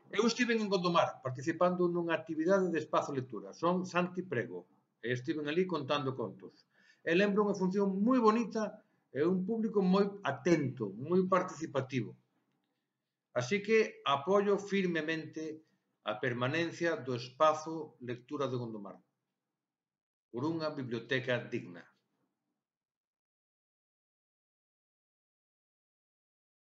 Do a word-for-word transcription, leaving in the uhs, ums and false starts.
Eu estive en Gondomar participando nunha actividade de espazo lectura. Son Santi Prego. E estiven ali contando contos. E lembro unha función moi bonita e un público moi atento, moi participativo. Así que apoio firmemente a permanencia do espazo lectura de Gondomar por unha biblioteca digna.